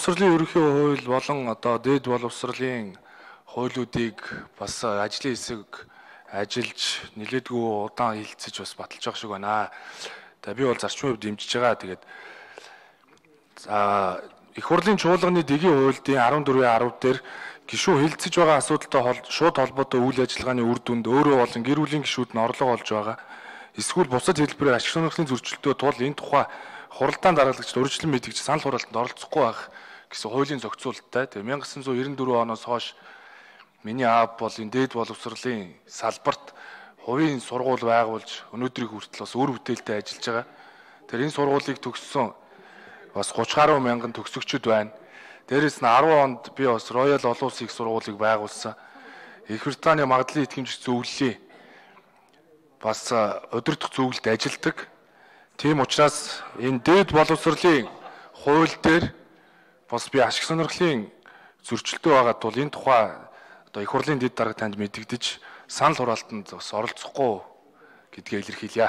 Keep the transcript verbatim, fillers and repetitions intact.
Боловсролын ерөнхий хууль болон одоо дээд боловсролын хуулиудыг бас ажлын хэсэг ажиллаж нэлээдгүй удаан хилцэж бас баталж байгаа шиг байна. Тэгээ би бол зарчмын хувьд дэмжиж байгаа. Тэгээд за их хурлын чуулганы дэгийн хуулийн арван дөрвийн арав дээр гишүүн хилцэж байгаа асуудалтай шууд холбоотой үйл ажиллагааны үр дүнд өөрөө болон гэр бүлийн гишүүд нь орлого олж байгаа. Эсвэл бусад хэлбэрээр ашиг сонирхлын зөрчилдөө тул энэ тухай хуралдаан дараалагчид урьдчилан мэдгэж санал хураалтанд оролцохгүй байх гэсэн хуулийн зохицуулттай. Тэгээ мянга девять жүз девяносто дөрвөн оноос хойш миний аав бол энэ дээд боловсролын салбарт хувийн сургууль байгуулж өнөөдрийг хүртэл бас үр бүтээлтэй ажиллаж байгаа. Тэр энэ сургуулийг төгссөн бас гуравч гаруй мянган төгсөгчд байна. Дээрээс нь арван онд би бас Royal Олон Улсын их сургуулийг байгуулсан. Их Британий магадлалын итгэмжих зөвлөлийн бас удирдах зөвлөлд ажилладаг. Тийм учраас энэ дээд боловсролын хууль дээр бас би ашиг сонирхлын зөрчилдөө байгаа тул энэ тухай одоо их хурлын дэд дарга танд мэдэгдэж санал хураалтанд бас оролцохгүй гэдгээ илэрхийлье.